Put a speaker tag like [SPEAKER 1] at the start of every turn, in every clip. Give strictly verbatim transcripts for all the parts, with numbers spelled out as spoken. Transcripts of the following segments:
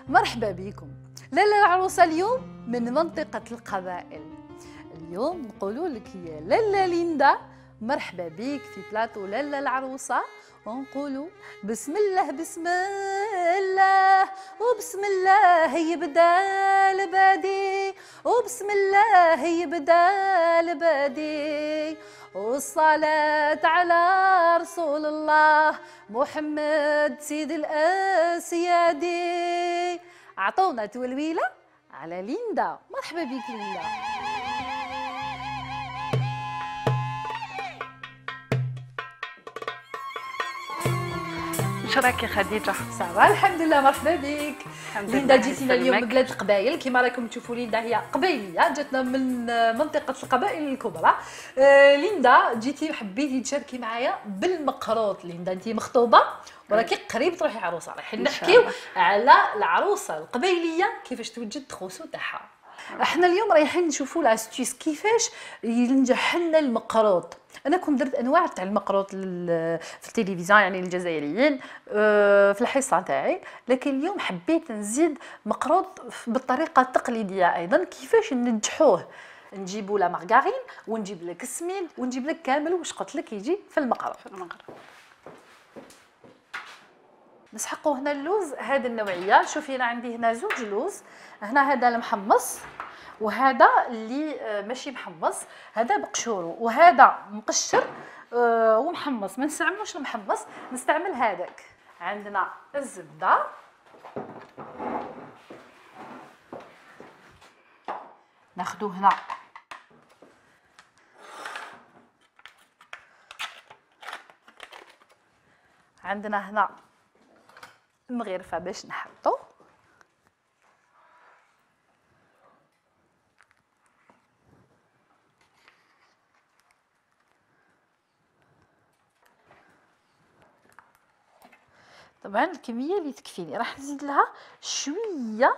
[SPEAKER 1] مرحبا بكم. لاله العروسه اليوم من منطقه القبائل. اليوم نقولوا لك يا لاله ليندا مرحبا بك في بلاطو لاله العروسه، ونقولوا بسم الله بسم الله وبسم الله يبدا البادي وبسم الله يبدا البادي والصلاة على رسول الله محمد سيد الأسيادي. أعطونا تولويلة على ليندا. مرحبا بك ليندا.
[SPEAKER 2] واش راكي خديجه؟
[SPEAKER 1] صافا الحمد لله. مرحبا بك ليندا. جيتينا اليوم من بلاد القبائل كما راكم تشوفوا. ليندا هي قبيليه جاتنا من منطقه القبائل الكبرى. آه ليندا جيتي حبيتي تشاركي معايا بالمقروط. ليندا انت مخطوبه وراكي قريب تروحي عروسه. رايحين نحكيو على العروسه القبيليه كيفاش توجد التخوسو تاعها. احنا اليوم رايحين نشوفوا لاستيس كيفاش ينجح لنا المقروط. انا كنت درت انواع تاع المقروط في التلفزيون يعني الجزائريين في الحصه تاعي، لكن اليوم حبيت نزيد مقروط بالطريقه التقليديه ايضا. كيفاش ننجحوه؟ نجيبوا لا مارغارين ونجيب لك السمين ونجيب لك كامل واش قلت لك يجي في المقروط. في المقروط نسحقوا هنا اللوز هذه النوعيه. شوفي انا عندي هنا زوج لوز. هنا هذا المحمص وهذا اللي ماشي محمص، هذا بقشورو وهذا مقشر ومحمص. ما نستعملوش المحمص، نستعمل هذاك. عندنا الزبده ناخذو هنا عندنا هنا مغرفه باش نحطو. طبعا الكميه اللي تكفيني راح نزيد لها شويه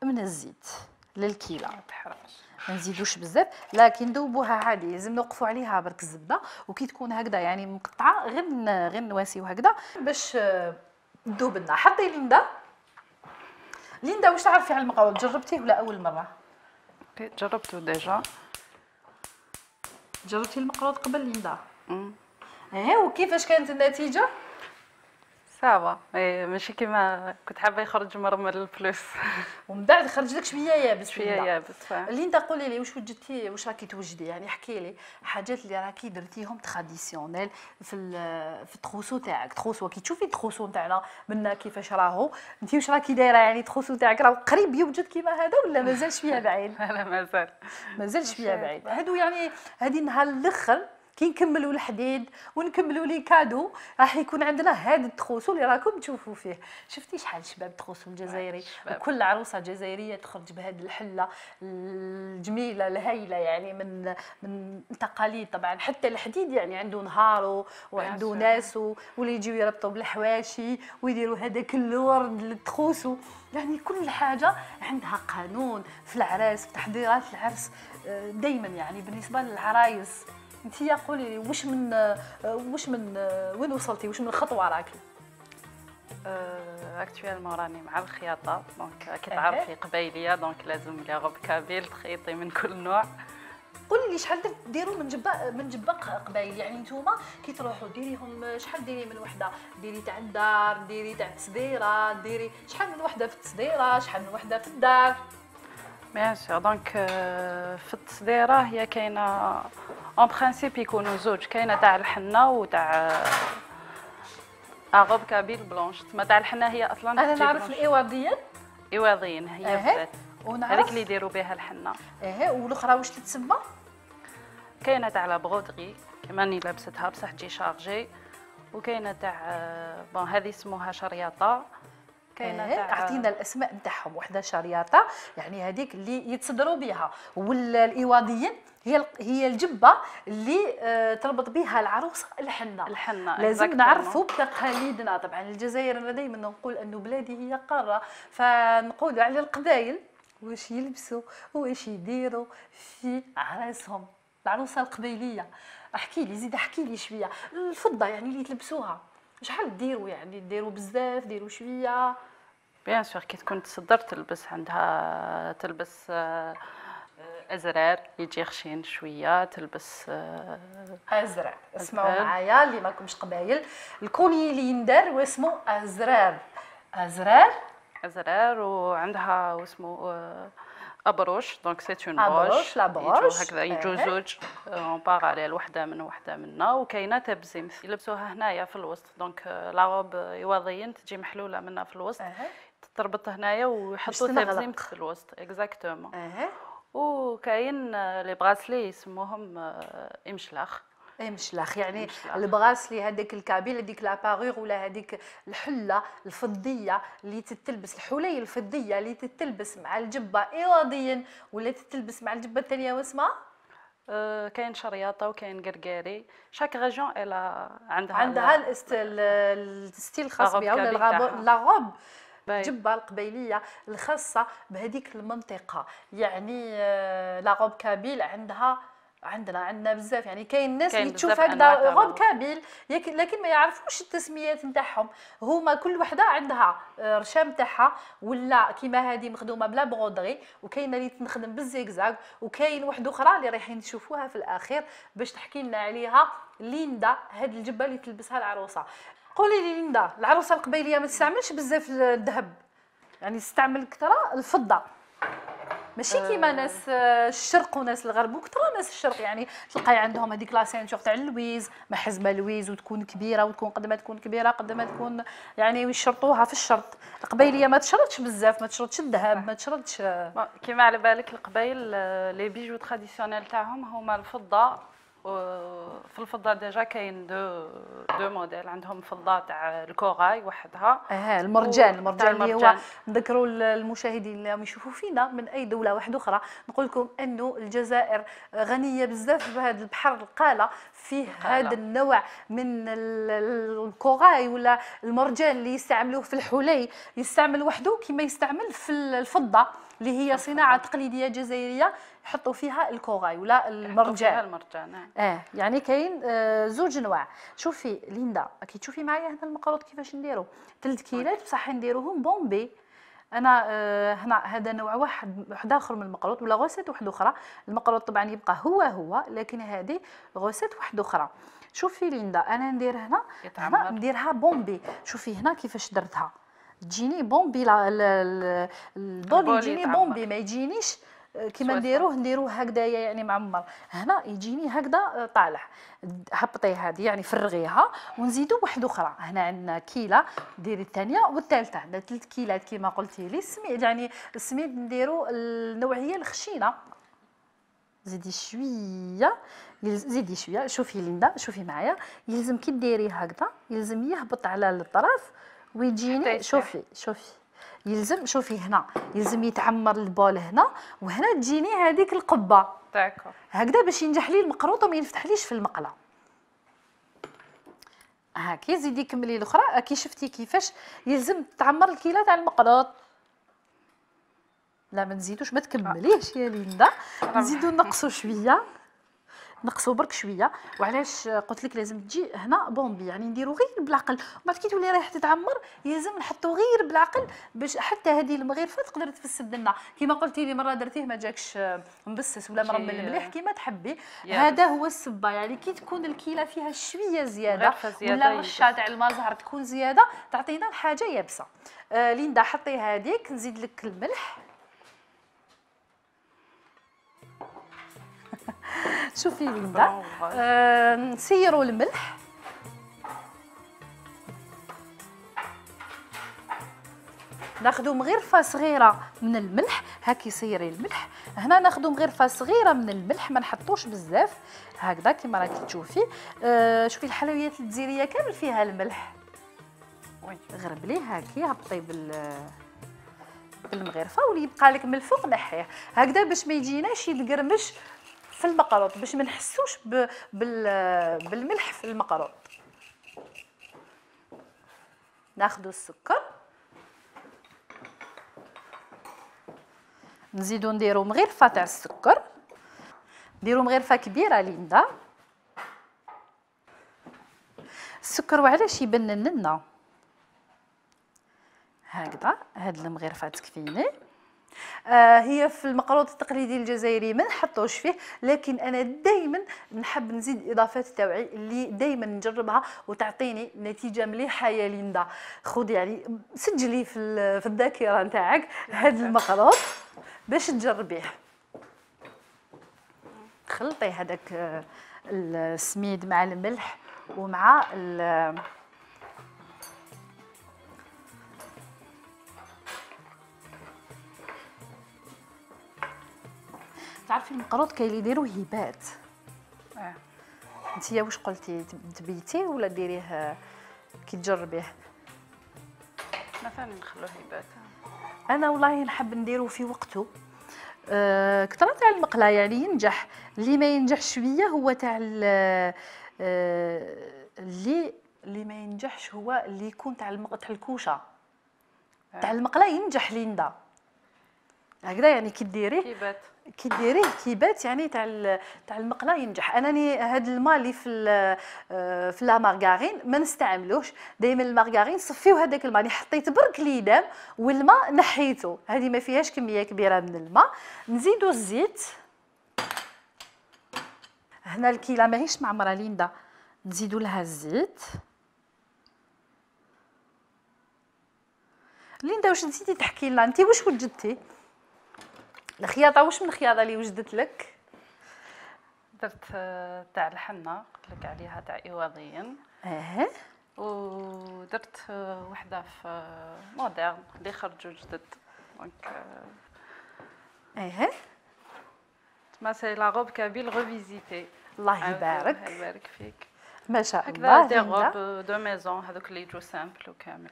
[SPEAKER 1] من الزيت للكيله. ما نزيدوش بزاف لكن ذوبوها عادي. لازم نوقفوا عليها برك الزبده وكي تكون هكذا يعني مقطعه غير غير نواسيو هكذا باش تذوب لنا. حطي ليندا. ليندا واش تعرفي على المقروط؟ جربتيه ولا اول مره؟
[SPEAKER 2] جربته ديجا.
[SPEAKER 1] جربتي المقروط قبل ليندا؟ امم ايه وكيفاش كانت النتيجه؟
[SPEAKER 2] صافا ماشي كيما كنت حابه يخرج مرمر الفلوس.
[SPEAKER 1] ومن بعد خرج لك شويه يابس.
[SPEAKER 2] شويه يابس.
[SPEAKER 1] ليندا قولي لي واش وجدتي، واش راكي توجدي؟ يعني احكي لي حاجات اللي راكي درتيهم تراديسيونيل في في التخوسو تاعك. تخوسو كي تشوفي التخوسو تاعنا منا كيفاش راهو، انت واش راكي دايره؟ يعني التخوسو تاعك راه قريب يوجد كيما هذا ولا مازال شويه بعيد؟
[SPEAKER 2] لا مازال
[SPEAKER 1] مازال شويه بعيد. هادو يعني هذه نهار الاخر كي نكملوا الحديد ونكملوا لي كادو راح يكون عندنا هذا التخوسو اللي راكم تشوفوا فيه. شفتي شحال شباب التخوسو الجزائري، وكل عروسه جزائريه تخرج بهذه الحله الجميله الهايله يعني من من التقاليد. طبعا حتى الحديد يعني عنده نهارو وعنده ناسو واللي يجيو يربطوا بالحواشي ويديروا هذاك الورد للتخوسو. يعني كل حاجه عندها قانون في العراس، في تحضيرات العرس دائما. يعني بالنسبه للعرايس انتي قولي لي واش من واش من وين وصلتي؟ واش من خطوه راكي؟
[SPEAKER 2] اكطوالمون راني مع الخياطه. دونك كي تعرفي قبايليه دونك لازم لي غوب كابيل تخيطي من كل نوع.
[SPEAKER 1] قولي لي شحال ديروا من جباق من جباق قبايل؟ يعني نتوما كي تروحوا ديريهم شحال ديري من وحده؟ ديري تاع الدار، ديري تاع التصديره، ديري شحال من وحده في التصديره، شحال من وحده في الدار؟
[SPEAKER 2] بيان سور. دونك في التصديره هي كاينه اون برانسيب يكونوا زوج، كاينه تاع الحنه وتاع اغوب كابيل بلونش. تما تاع الحنه هي اصلا
[SPEAKER 1] انا نعرف الايواضيين.
[SPEAKER 2] ايواضيين هي
[SPEAKER 1] أه.
[SPEAKER 2] هذيك اللي يديروا بها الحنه.
[SPEAKER 1] اها والاخرى واش تتسمى؟
[SPEAKER 2] كاينه تاع لا برودري كما راني لابستها بصح تجي شارجي، وكاينه تاع بون هذه اسمها شرياطه.
[SPEAKER 1] كاينه تاع اعطينا الاسماء نتاعهم. وحده شرياطه يعني هذيك اللي يتصدروا بها، والايواضيين هي هي الجبه اللي آه تربط بها العروسه الحنه.
[SPEAKER 2] الحنه
[SPEAKER 1] لازم نعرفوا بتقاليدنا. طبعا الجزائر انا دائما نقول انه بلادي هي قاره، فنقولوا على القبائل واش يلبسوا واش يديروا في عراسهم. العروسه القبيليه احكي لي، زيد احكي لي شويه. الفضه يعني اللي تلبسوها شحال ديروا؟ يعني ديروا بزاف، ديروا شويه؟
[SPEAKER 2] بيان سور كي تكون تصدر تلبس عندها تلبس ازرار يجي خشين شويه، تلبس
[SPEAKER 1] ازرار. اسمعوا معايا اللي ماكمش قبايل، الكوني اللي يندار واسمه ازرار. ازرار
[SPEAKER 2] ازرار وعندها واسمه ابروش، دونك سي اون
[SPEAKER 1] بروش. لا بروش
[SPEAKER 2] هكذا يجوا زوج اون باراليل، وحده من وحده منا، وكاينه تبزيم يلبسوها هنايا في الوسط، دونك لاغوب يواضيين تجي محلوله منها في الوسط، تربط هنايا ويحطوا تبزيم في الوسط اكزاكتومون.
[SPEAKER 1] اها.
[SPEAKER 2] وكاين لي براسلي يسموهم امشلاخ.
[SPEAKER 1] امشلاخ يعني البغاسلي هذاك الكابيل، هذيك لابارور ولا هذيك الحله الفضيه اللي تتلبس، الحلي الفضيه اللي تتلبس مع الجبه ايواديا ولا تتلبس مع الجبه الثانيه واسمها
[SPEAKER 2] أه كاين شرياطه وكاين قرقاري، شاك ريجون الا عندها
[SPEAKER 1] عندها الستيل الخاص بها ولا لاغوب الجبه القبيليه الخاصه بهذيك المنطقه. يعني لاغوب كابيل عندها عندنا عندنا بزاف، يعني كاين الناس اللي تشوف هكذا غوب كابيل لكن ما يعرفوش التسميات نتاعهم. هما كل وحده عندها رشام تاعها، ولا كيما هذه مخدومه بلا برودري، وكاينه اللي تنخدم بالزيكزاك، وكاين وحده اخرى اللي رايحين تشوفوها في الاخير باش تحكي لنا عليها ليندا، هذه الجبه اللي تلبسها العروسه. قولي لي ليندا، العروسه القبيليه ما تستعملش بزاف الذهب، يعني تستعمل كثره الفضه، ماشي كيما ناس الشرق وناس الغرب، وكثر ناس الشرق يعني تلقاي عندهم هذيك لا سينتور تاع اللويز، ما حزمه لويز وتكون كبيره، وتكون قد ما تكون كبيره قد ما تكون يعني يشرطوها في الشرط. القبايليه ما تشرطش بزاف، ما تشرطش الذهب، ما تشرطش
[SPEAKER 2] كيما على بالك القبايل لي بيجو تراديسيونيل تاعهم هما الفضه. في الفضه ديجا كاين دو دو موديل، عندهم فضه تاع الكوراي وحدها،
[SPEAKER 1] اه المرجان. المرجان اللي هو نذكروا المشاهدين اللي راهم يشوفوا فينا من اي دوله واحده اخرى، نقول لكم انه الجزائر غنيه بزاف بهذا البحر القاله، فيه هذا النوع من الكوراي ولا المرجان اللي يستعملوه في الحلي، يستعمل وحده كما يستعمل في الفضه اللي هي صناعه تقليديه جزائريه، يحطوا فيها الكوراي ولا المرجان.
[SPEAKER 2] فيها المرجان
[SPEAKER 1] اه يعني كاين آه زوج انواع. شوفي ليندا كي تشوفي معايا هنا المقروط كيفاش نديرو، ثلاث كيلات بصح نديروهم بومبي. انا آه هنا هذا نوع واحد واحد اخر من المقروط ولا غوسيت واحده اخرى. المقروط طبعا يبقى هو هو، لكن هذه غوسيت واحده اخرى. شوفي ليندا انا ندير هنا هنا نديرها بومبي. شوفي هنا كيفاش درتها، تجيني بومبي البول يجيني بومبي، ما يجينيش كيما نديروه نديروه هكذايا يعني معمر. هنا يجيني هكذا طالع. هبطي هذه يعني فرغيها ونزيدوا واحده اخرى. هنا عندنا كيله، ديري الثانيه والثالثه، عندنا ثلاث كيلات كيما قلتي لي. السميد يعني السميد نديروا النوعيه الخشينه. زيدي شويه، زيدي شويه. شوفي ليندا شوفي معايا، يلزم كي ديري هكذا يلزم يهبط على الطرف ويجيني. شوفي شوفي يلزم، شوفي هنا يلزم يتعمر البول هنا، وهنا تجيني هذيك القبه
[SPEAKER 2] داكور
[SPEAKER 1] هكذا باش ينجح لي المقروط وما ينفتحليش في المقله. هاكي زيدي كملي الاخرى. كي شفتي كيفاش يلزم تعمر الكيله تاع المقروط. لا ما نزيدوش، ما تكمليش يا ليندا، نزيدو نقصوا شويه، نقصوا برك شويه. وعلاش قلت لك لازم تجي هنا بومبي، يعني نديرو غير بالعقل، ومن بعد كي تولي رايحه تتعمر يلزم نحطو غير بالعقل باش حتى هذه المغرفه تقدر تفسد لنا. كيما قلتي لي مره درتيه ما جاكش مبسس ولا مرمل مليح كيما تحبي، هذا هو السبه. يعني كي تكون الكيله فيها شويه زياده ولا رشه تاع الماء زهر تكون زياده تعطينا الحاجه يابسه. آه ليندا حطي هذيك، نزيد لك الملح. شوفي ليندا آه نسيروا الملح. ناخذوا مغرفه صغيره من الملح. هاكي سيري الملح. هنا ناخذوا مغرفه صغيره من الملح، ما نحطوش بزاف هكذا كيما راكي تشوفي. آه شوفي الحلويات الجزائريه كامل فيها الملح. غربليه هاكي، هبطي بال بالمغرفه واللي يبقى لك من الفوق نحيه هكذا باش ما يجيناش يتقرمش في المقروط، باش ما نحسوش بالملح في المقروط. ناخذوا السكر، نزيدو نديرو مغرفه تاع السكر. نديرو مغرفه كبيره ليندا. السكر وعلاش يبنن لنا هكذا. هاد المغرفه تكفيني. آه هي في المقروط التقليدي الجزائري ما نحطوش فيه، لكن انا دائما نحب نزيد اضافات تاوعي اللي دائما نجربها وتعطيني نتيجه مليحه. يا ليندا خذي يعني سجلي في في الذاكره نتاعك هذا المقروط باش تجربيه. خلطي هذاك السميد مع الملح ومع تعرفي المقروط كاين اللي يديروه هيبات. اه انتيا واش قلتي تبيتيه ولا ديريه كي تجربيه؟
[SPEAKER 2] مثلا نخلوه هيبات.
[SPEAKER 1] انا والله نحب نديرو في وقته. أه كثر تاع المقله يعني ينجح. اللي ما ينجح شويه هو تاع أه اللي اللي ما ينجحش هو اللي يكون تاع تاع الكوشه. تاع المقله ينجح ليندا هكذا يعني كي ديريه
[SPEAKER 2] كيبات
[SPEAKER 1] كي ديريه كيبات يعني تاع تاع المقله ينجح. انني هذا الماء اللي في في لا مارغارين ما نستعملوش دائما. المارغارين صفيو هذاك الماء اللي حطيت برك ليدام والماء نحيته، هذه ما فيهاش كميه كبيره من الماء. نزيدو الزيت. هنا الكيله ماهيش معمره ليندا، نزيدو لها الزيت. ليندا واش نسيتي تحكي لنا انت واش وجدتي؟ الخياطه واش من الخياطه اللي وجدت لك؟
[SPEAKER 2] درت تاع الحنه قلت لك عليها تاع ايواضيين.
[SPEAKER 1] اه
[SPEAKER 2] ودرت وحده في مودرن اللي خرجوا جدد دونك
[SPEAKER 1] اه
[SPEAKER 2] ما سي لا روب كابيل ريفيزيتي.
[SPEAKER 1] الله يبارك.
[SPEAKER 2] الله يبارك فيك.
[SPEAKER 1] ما شاء الله.
[SPEAKER 2] دي روب دو ميزون هذوك اللي يجوا سامبل وكامل.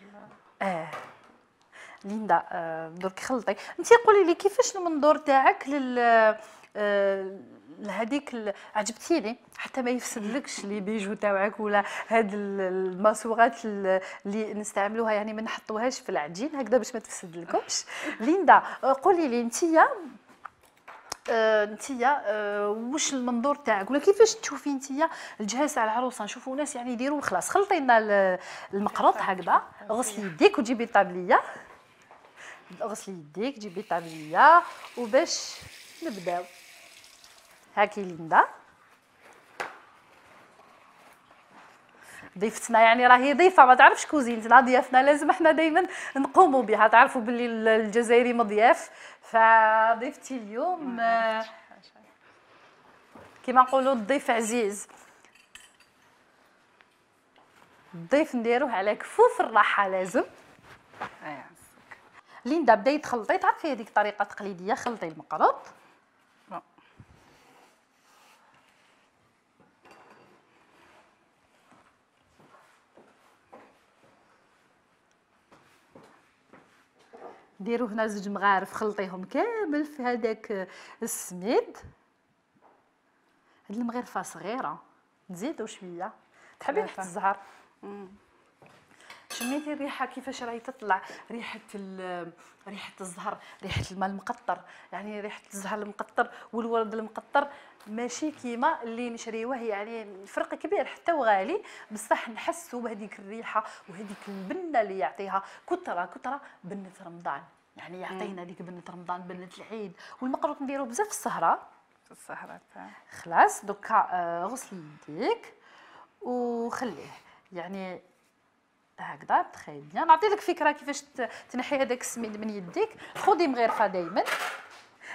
[SPEAKER 1] اه ليندا درك خلطي. انتي قولي لي كيفاش المنظور تاعك لل لهذيك عجبتيني حتى ما يفسدلكش لي بيجو تاعك ولا هاد الماسوغات اللي نستعملوها يعني ما نحطوهاش في العجين هكذا باش ما تفسدلكمش. ليندا قولي لي انتيا آه نتيا آه واش المنظور تاعك ولا كيفاش تشوفي نتيا الجهاز تاع العروسه؟ نشوفوا ناس يعني يديروا خلاص خلطي لنا المقروط هكذا. غسلي يديك وجيبي طابليه. غسلي يديك جيبي طابليه وباش نبداو. هاكي ليندا ضيفتنا يعني راهي ضيفه ما تعرفش كوزينتنا. ضيافنا لازم احنا دائما نقوموا بها. تعرفوا باللي الجزائري مضياف، فضيفتي اليوم كما نقولوا الضيف عزيز. الضيف نديروه على كفوف الراحه لازم. ليندا بداي تخلطي. تعرفي هذيك طريقه تقليديه. خلطي المقروط ديروا هنا زوج مغارف خلطيهم كامل في هذاك السميد. هاد المغرفه صغيره نزيدوا شويه. تحبي ريحه الزهر؟ شميتي الريحه كيفاش راهي تطلع؟ ريحه ريحه الزهر، ريحه الماء المقطر، يعني ريحه الزهر المقطر والورد المقطر ماشي كيما اللي نشريوه يعني فرق كبير حتى وغالي، بصح نحسوا بهذيك الريحه وهذيك البنه اللي يعطيها كثره كثره بنه رمضان. يعني يعطينا ديك بنه رمضان بنه العيد. والمقروط نديرو بزاف في السهره
[SPEAKER 2] في السهره تاع
[SPEAKER 1] خلاص. دوكا آه غسلي يديك وخليه يعني هكذا تخي بيان. نعطي لك فكره كيفاش تنحي هذاك السميد من يديك. خذي مغرفه دائما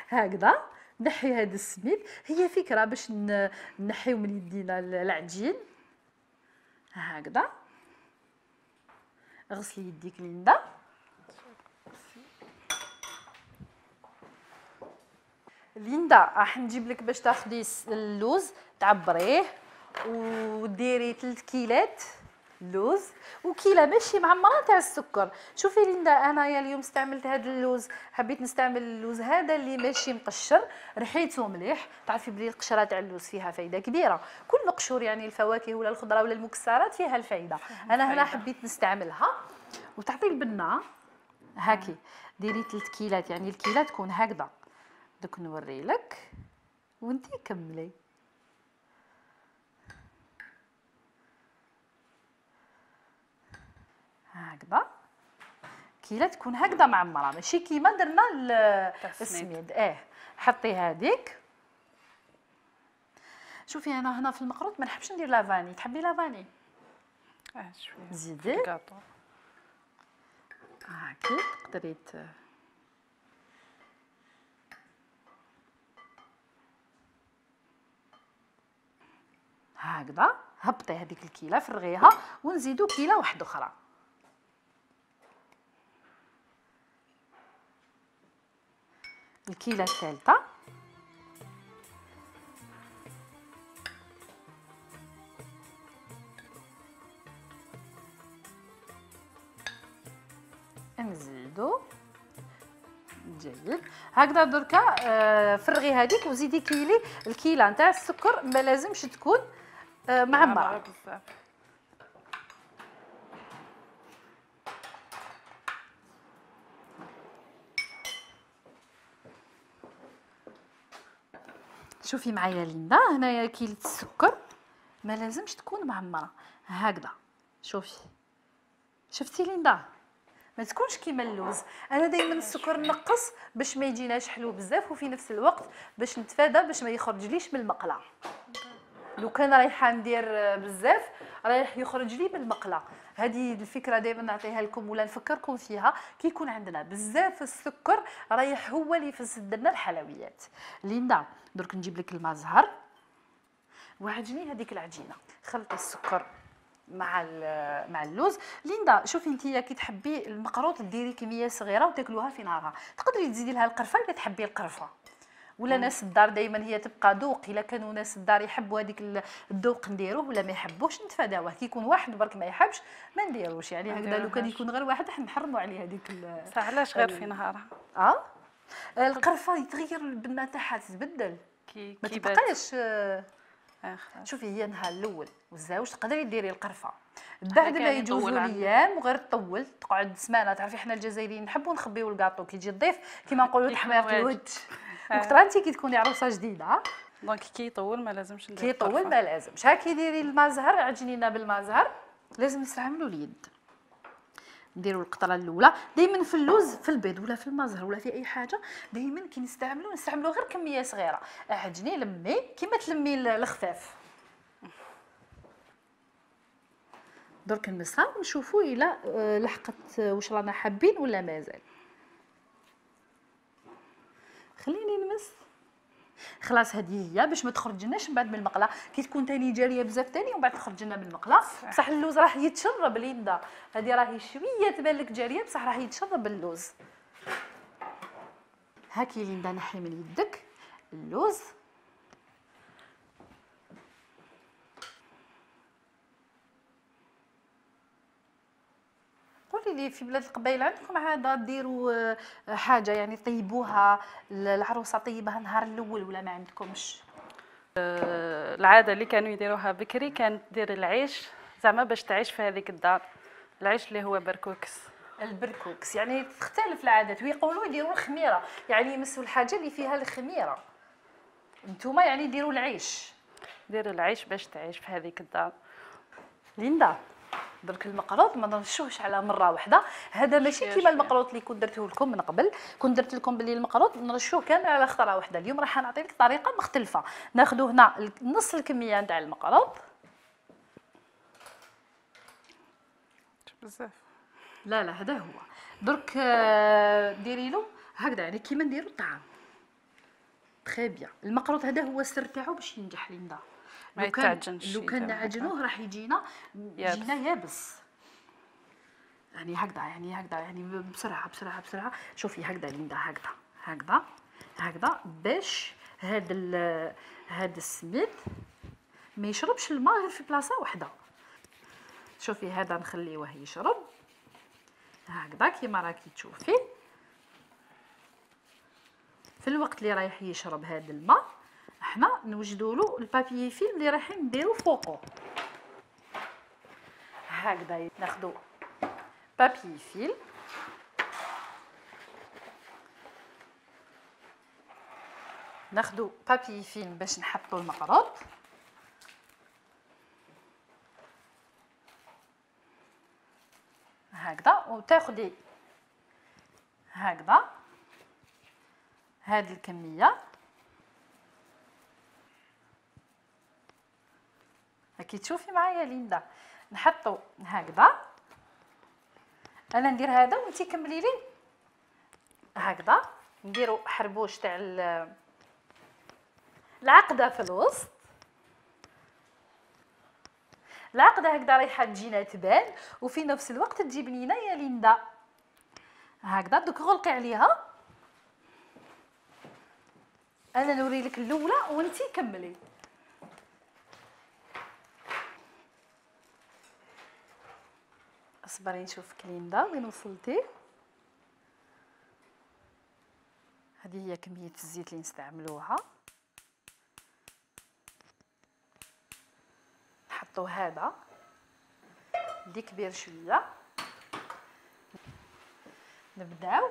[SPEAKER 1] هكذا نحي هذا السميد. هي فكره باش نحيو من يدينا العجين هكذا. غسلي يديك ليندا. ليندا راح نجيب لك باش تاخدي اللوز تعبريه وديري ثلاث كيلات اللوز وكيله ماشي معمره تاع السكر. شوفي ليندا انايا اليوم استعملت هذا اللوز، حبيت نستعمل اللوز هذا اللي ماشي مقشر ريحته مليح. تعرفي بلي القشره تاع اللوز فيها فايده كبيره. كل قشور يعني الفواكه ولا الخضره ولا المكسرات فيها الفايده. انا هنا حبيت نستعملها وتعطي البنه هاكي. ديري ثلاث كيلات يعني الكيله تكون هكذا. دوك نوري لك وانتي كملي. هكذا الكيله تكون هكذا معمره ماشي كيما درنا السميد. اه حطي هذيك. شوفي انا هنا في المقروط ما نحبش ندير لافاني، تحبي لافاني؟
[SPEAKER 2] اه شويه
[SPEAKER 1] زيدي
[SPEAKER 2] الكاطو
[SPEAKER 1] هاكي تقدري هكذا. هبطي هذيك الكيله فرغيها ونزيدو كيله واحده اخرى. الكيله الثالثه نزيدو. جيد هكذا. دركا آه فرغي هذيك وزيدي كيلي الكيله نتاع السكر، ما لازمش تكون آه معمره
[SPEAKER 2] بزاف.
[SPEAKER 1] شوفي معايا ليندا هنايا كيلة السكر ما لازمش تكون معمره هكذا. شوفي شفتي ليندا ما تكونش كيما اللوز. انا دائما السكر نقص باش ما يجيناش حلو بزاف، وفي نفس الوقت باش نتفادى باش ما يخرجليش من المقله. لو كان رايحه ندير بزاف رايح يخرج لي من المقله. هذه الفكره دائما نعطيها لكم ولا نفكركم فيها. كي يكون عندنا بزاف السكر رايح هو اللي يفسد لنا الحلويات. ليندا درك نجيب لك الماء زهر وعجني هذيك العجينه. خلطي السكر مع مع اللوز. ليندا شوفي انتيا كي تحبي المقروط ديري كميه صغيره وتاكلوها في نهارها. تقدري تزيدي لها القرفه اذا تحبي القرفه، ولا ناس الدار دائما هي تبقى ذوق. الا كانوا ناس الدار يحبوا هذيك الذوق نديروه، ولا ما يحبوش نتفاداوه. كي يكون واحد برك ما يحبش ما نديروش. يعني هكذا لو كان يكون غير واحد راح نحرموا عليه هذيك.
[SPEAKER 2] علاش غير في نهارها؟
[SPEAKER 1] اه القرفه يتغير البنه تاعها تتبدل
[SPEAKER 2] كي
[SPEAKER 1] ما
[SPEAKER 2] كي
[SPEAKER 1] تبقاش.
[SPEAKER 2] آخر.
[SPEAKER 1] شوفي هي النهار الاول والزاوج تقدري ديري القرفه بعد ما
[SPEAKER 2] كان
[SPEAKER 1] يجوزوا
[SPEAKER 2] يطول
[SPEAKER 1] الايام وغير تطول تقعد سمانه. تعرفي حنا الجزائريين نحبوا نخبيو الكاطو كي يجي الضيف كيما نقولوا تحميره الوجه. وكثر انت كي تكوني عروسه جديده
[SPEAKER 2] دونك كي يطول ما لازمش ندير
[SPEAKER 1] كي يطول ما لازمش. ها كي ديري الماء زهر عجنينا بالماء زهر. لازم نستعملوا اليد. نديروا القطره الاولى دائما في اللوز في البيض ولا في الماء زهر ولا في اي حاجه. دائما كي نستعملوا نستعملوا غير كميه صغيره. عجني لمي كيما تلمي الخفاف. درك نمسها ونشوفوا الا لحقت واش رانا حابين ولا مازال. خليني نمس. خلاص هذه هي باش ما تخرجناش من بعد من المقله. كي تكون ثاني جاريه بزاف ثاني ومن بعد تخرج لنا من المقله. بصح اللوز راح يتشرب ليندا. هذه راهي شويه تبان لك جاريه بصح راح يتشرب اللوز. هاكي ليندا نحي من يدك اللوز. قولي لي في بلاد القبائل عندكم عاده ديروا حاجه يعني طيبوها العروسه طيبها النهار الاول ولا ما عندكمش؟
[SPEAKER 2] العاده اللي كانوا يديروها بكري كانت دير العيش زعما باش تعيش في هذيك الدار. العيش اللي هو بركوكس.
[SPEAKER 1] البركوكس يعني تختلف العادات. ويقولوا يديروا الخميره يعني يمسوا الحاجه اللي فيها الخميره. نتوما يعني ديروا العيش.
[SPEAKER 2] دير العيش باش تعيش في هذيك الدار.
[SPEAKER 1] ليندا درك المقروط ما نرشوهش على مره واحده. هذا ماشي كيما المقروط اللي كنت درته لكم من قبل. كنت درت لكم باللي المقروط نرشوه كامل على خطره واحده. اليوم راح نعطي لك طريقه مختلفه. ناخذ هنا نص الكميه نتاع المقروط.
[SPEAKER 2] بزاف.
[SPEAKER 1] لا لا هذا هو. درك ديري له هكذا يعني كيما نديروا الطعام. تري بيان. المقروط هذا هو السر تاعو باش ينجح ليندا.
[SPEAKER 2] ما يتعجنش.
[SPEAKER 1] لو كان نعجنوه راح يجينا يجينا يابس. يعني هكذا يعني هكذا يعني بسرعه بسرعه بسرعه. شوفي هكذا ليندا هكذا هكذا هكذا باش هذا هذا السميد ما يشربش الماء غير في بلاصه واحده. شوفي هذا نخليوه يشرب هكذا كيما راكي تشوفي. في الوقت اللي رايح يشرب هذا الماء احنا نوجدوا له البابي فيلم اللي رايحين نديرو فوقه. هكذا ناخذوا بابي فيلم ناخذوا بابي فيلم باش نحطوا المقروط. هكذا وتاخذي هكذا هذه الكميه كي تشوفي معايا ليندا. نحطو هكذا، انا ندير هذا وانتي كملي لي هكذا. نديرو حربوش تاع العقده في الوسط، العقده هكذا رايحه تجينا تبان وفي نفس الوقت تجيب لينا يا ليندا هكذا. دوك غلقي عليها، انا نوري لك الاولى وانتي كملي. اصبري نشوفك ليندا وين وصلتي. هذه هي كميه الزيت اللي نستعملوها. نحطو هذا اللي كبير شويه، نبداو.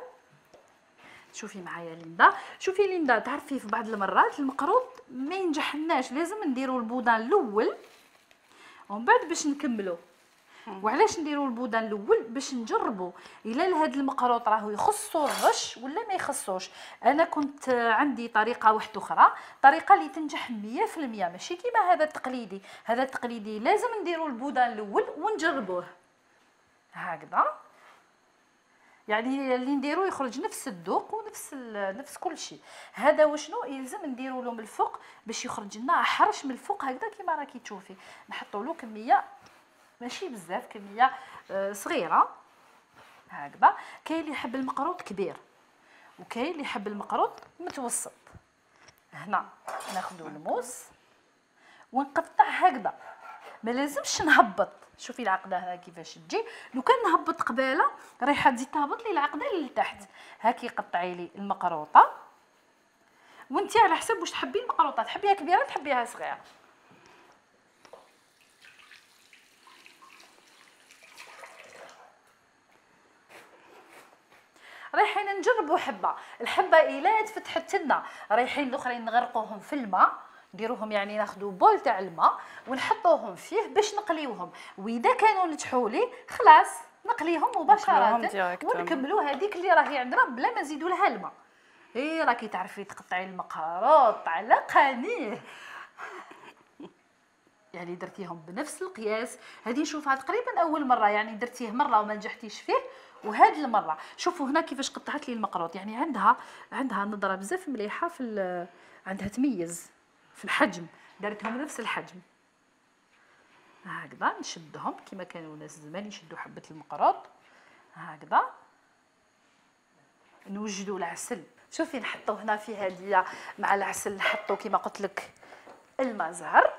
[SPEAKER 1] شوفي معايا ليندا، شوفي ليندا، تعرفي في بعض المرات المقروط ما ينجحناش، لازم نديروا البودان الاول ومن بعد باش نكملوا. وعلاش نديروا البودان الاول؟ باش نجربوا الا لهاد المقروط راهو يخصو الرش ولا ما يخصوش. انا كنت عندي طريقه واحده اخرى، طريقه اللي تنجح مية في المية، ماشي كيما هذا التقليدي. هذا التقليدي لازم نديروا البودان الاول ونجربوه هكذا، يعني اللي نديرو يخرج نفس الذوق ونفس نفس كل شيء. هذا وشنو يلزم نديرو له من الفوق باش يخرج لنا حرش من الفوق هكذا كيما راكي تشوفي. نحطوا له كميه ماشي بزاف، كميه صغيره هكذا. كاين اللي يحب المقروط كبير وكاين اللي يحب المقروط متوسط. هنا ناخذ الموس ونقطع هكذا، ما لازمش نهبط. شوفي العقده هنا كيفاش تجي، لو كان نهبط قباله رايحه تزيد تهبط لي العقده لتحت. هاكي قطعي لي المقروطه وانتي على حسب واش تحبي المقروطه، تحبيها كبيره تحبيها صغيره. رايحين نجربوا حبه، الحبه الا تفتحت لنا رايحين الاخرين نغرقوهم في الماء، نديروهم يعني ناخذوا بول تاع الماء ونحطوهم فيه باش نقليوهم، واذا كانوا نجحوا لي خلاص نقليهم مباشره ونكملوا هذيك اللي راهي عندنا بلا ما نزيدوا لها الماء. اي راكي تعرفي تقطعي المقروط على قنيه يعني درتيهم بنفس القياس. هذه نشوفها تقريبا اول مره، يعني درتيه مره وما نجحتيش فيه، وهذه المره شوفوا هنا كيفاش قطعت لي المقروط. يعني عندها عندها نظره بزاف مليحه في عندها تميز في الحجم، دارتهم نفس الحجم هكذا. نشدهم كما كانوا الناس زمان يشدوا حبه المقروط هكذا. نوجدوا العسل، شوفي نحطوا هنا في هديه مع العسل نحطوا كما قلت لك الماء زهر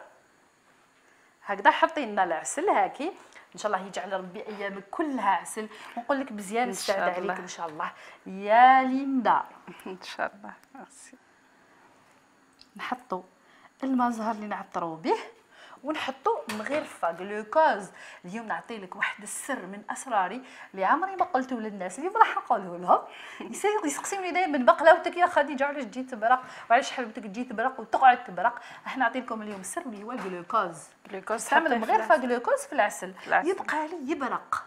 [SPEAKER 1] هكذا. حطي لنا العسل هاكي، ان شاء الله يجعل ربي ايامك كلها عسل، ونقول لك مزيان نستعد عليك ان شاء الله يا ليندا.
[SPEAKER 2] ان شاء الله. ميرسي.
[SPEAKER 1] نحطوا الماء زهر اللي نعطروا به ونحطوا مغرفه جلوكوز. اليوم نعطي لك واحد السر من اسراري اللي عمري ما قلته للناس، اليوم راح نقوله لهم. يسقسيوني دائما بقلاوتك يا خديجه علاش تجي تبرق وعلاش حلوتك تجي تبرق وتقعد تبرق. احنا نعطي لكم اليوم السر اللي هو الجلوكوز.
[SPEAKER 2] جلوكوز
[SPEAKER 1] تعمل مغرفه جلوكوز في العسل يبقى لي يبرق.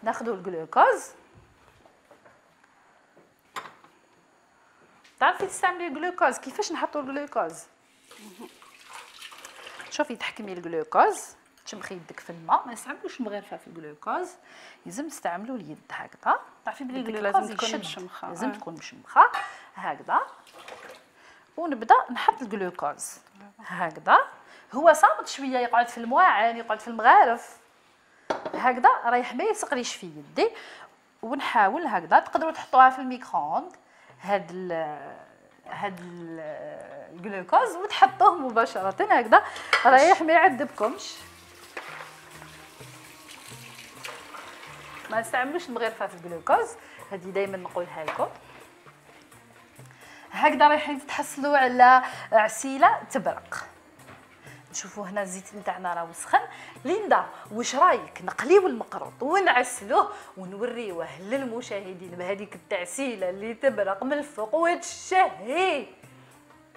[SPEAKER 1] ناخذوا الجلوكوز. تعرفي تستعملي الجلوكوز كيفاش نحطوا الجلوكوز؟ شوفي تحكمي الجلوكوز، تشمخي يدك في الماء، ما نستعملوش مغرفه في الجلوكوز، لازم تستعملوا اليد هكذا. تعرفي بلي الجلوكوز
[SPEAKER 2] لازم تكون مشمخه،
[SPEAKER 1] لازم تكون مشمخه هكذا. ونبدا نحط الجلوكوز هكذا. هو صامت شويه، يقعد في المواعن، يقعد في المغارف هكذا، رايح ما يسقليش في يدي. ونحاول هكذا. تقدروا تحطوها في الميكرووند هاد ال هاد الجلوكوز وتحطوه مباشره هكذا، رايح ما يعذبكمش. ما نستعملوش المغرفه في الجلوكوز، هذه دائما نقولها لكم هكذا. رايحين تتحصلوا على عسيله تبرق. نشوفوا هنا الزيت نتاعنا راه وسخن. ليندا واش رايك نقليو المقروط ونعسلوه ونوريوه للمشاهدين بهذيك التعسيله اللي تبرق من الفوق وتشهي؟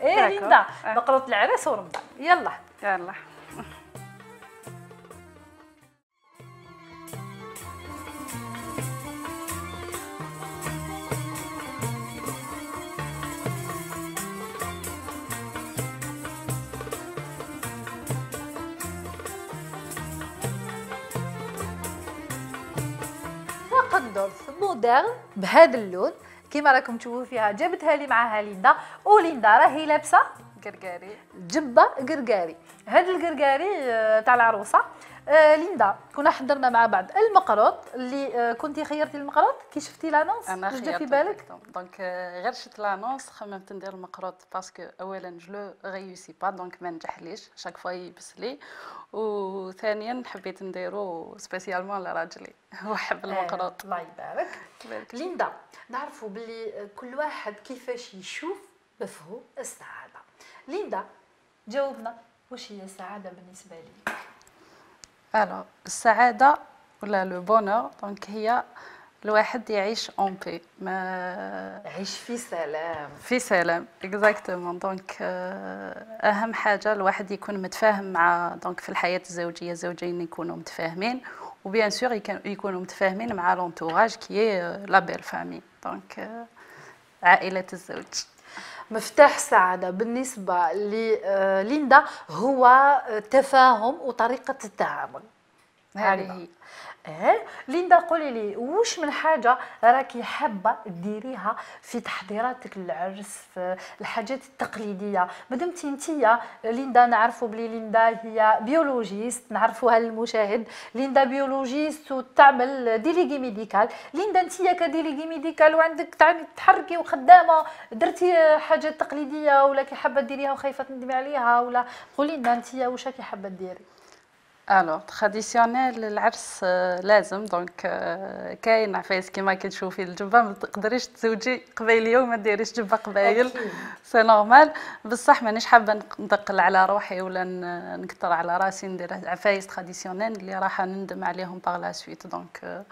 [SPEAKER 1] ايه ليندا، مقروط العرس ورمضان. يلا
[SPEAKER 2] يلا.
[SPEAKER 1] دير بهذا اللون كيما راكم تشوفوا فيها، جابتها لي معاها ليندا، وليندا راهي لابسه
[SPEAKER 2] قرقاري
[SPEAKER 1] جبه قرقاري. هذا القرقاري تاع العروسه. آه ليندا كنا حضرنا مع بعض المقروط اللي آه كنتي خيرتي المقروط كي شفتي لانونس
[SPEAKER 2] انا
[SPEAKER 1] جا في بالك؟
[SPEAKER 2] دونك غير شفت لانونس خممت ندير المقروط باسكو اولا جو ريوسي با دونك ما نجحليش شاك فوا يبس لي، وثانيا حبيت نديرو سبيسيالمون لراجلي هو حب المقروط.
[SPEAKER 1] آه الله يبارك. ليندا نعرفوا باللي كل واحد كيفاش يشوف مفهوم السعاده. ليندا جاوبنا، واش هي السعاده بالنسبه لك؟
[SPEAKER 2] الو السعاده ولا لو بونور دونك هي الواحد يعيش اون بي، ما
[SPEAKER 1] يعيش في سلام
[SPEAKER 2] في سلام اكزاكتومون. دونك اهم حاجه الواحد يكون متفاهم مع دونك في الحياه الزوجيه الزوجين يكونوا متفاهمين، وبيان سور يكونوا متفاهمين مع لونتوراج كي لا بيل فامي دونك عائله الزوج.
[SPEAKER 1] مفتاح السعادة بالنسبة لليندا هو تفاهم وطريقة التعامل.
[SPEAKER 2] هذه هي.
[SPEAKER 1] اه ليندا قولي لي واش من حاجة راكي حابة ديريها في تحضيراتك للعرس، في الحاجات التقليدية؟ مادامتي انتيا ليندا نعرفوا بلي ليندا هي بيولوجيست، نعرفوها للمشاهد، ليندا بيولوجيست وتعمل ديليغي ميديكال. ليندا انتيا كديليغي ميديكال وعندك تعني تحركي وخدامة، درتي حاجات تقليدية ولا كي حابة ديريها وخايفة تندمي عليها؟ ولا قولي لنا انتيا واش راكي حابة ديري؟
[SPEAKER 2] الو تراديسيونيل العرس لازم دونك كاين عفايس كيما كتشوفي الجبه ما تقدريش تزوجي قبيليه وما ديريش جبه قبايل سي نورمال. بصح مانيش حابه ندقل على روحي ولا نكثر على راسي ندير عفايس تراديسيونيل اللي راح نندم عليهم باغ لا سويت. دونك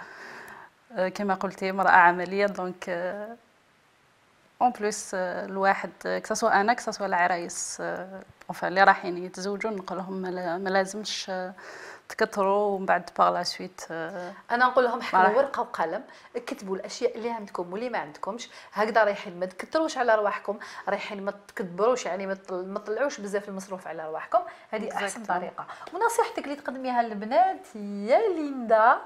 [SPEAKER 2] كيما قلتي امراه عمليه دونك اون بليس الواحد كسوا انا كسوا العرايس enfin اللي رايحين يتزوجوا نقول لهم ما لازمش تكثروا ومن بعد باغ لا سويت.
[SPEAKER 1] انا نقول لهم حلوا ورقه وقلم، اكتبوا الاشياء اللي عندكم واللي ما عندكمش، هكذا رايحين ما تكثروش على رواحكم، رايحين ما تكبروش يعني ما تطلعوش بزاف المصروف على رواحكم. هذه احسن طريقه. ونصيحتك اللي تقدميها للبنات يا ليندا؟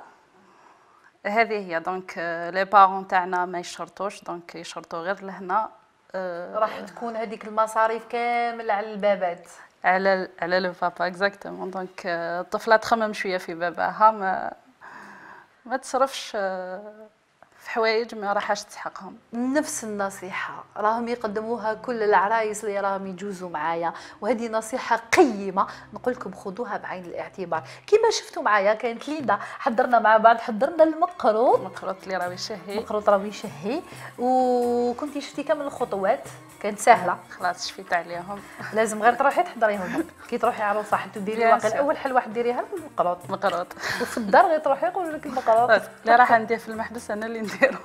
[SPEAKER 2] هذه هي دونك لي بارون تاعنا ما يشرطوش دونك يشرطوا غير لهنا.
[SPEAKER 1] أه راح تكون هذيك المصاريف كامل على البابات،
[SPEAKER 2] على على لو بابا اكزاكتومون. دونك الطفله تخمم شويه في باباها، ما ما تصرفش في حوايج ما راحش تسحقهم.
[SPEAKER 1] نفس النصيحه راهم يقدموها كل العرايس اللي راهم يجوزوا معايا، وهذه نصيحه قيمه نقول لكم خذوها بعين الاعتبار. كما شفتوا معايا كانت ليندا حضرنا مع بعض، حضرنا المقروط
[SPEAKER 2] المقروط اللي راه يشهي،
[SPEAKER 1] المقروط راه يشهي، وكنتي شفتي كامل الخطوات كانت سهله.
[SPEAKER 2] خلاص شفيت عليهم.
[SPEAKER 1] لازم غير تروحي تحضريهم كي تروحي عروسه حتى ديري واقيلا اول حل واحد ديريها المقروط
[SPEAKER 2] المقروط
[SPEAKER 1] وفي الدار غير تروحي يقولوا لك المقروط
[SPEAKER 2] اللي راح ندير في المحبس انا اللي نديرو.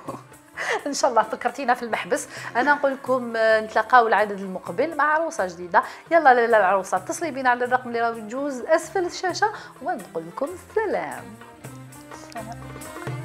[SPEAKER 1] ان شاء الله فكرتينا في المحبس. انا نقول لكم نتلاقاو العدد المقبل مع عروسه جديده. يلا لاله العروسه اتصلي بينا على الرقم اللي راه يجوز اسفل الشاشه ونقول لكم السلام.
[SPEAKER 2] السلام.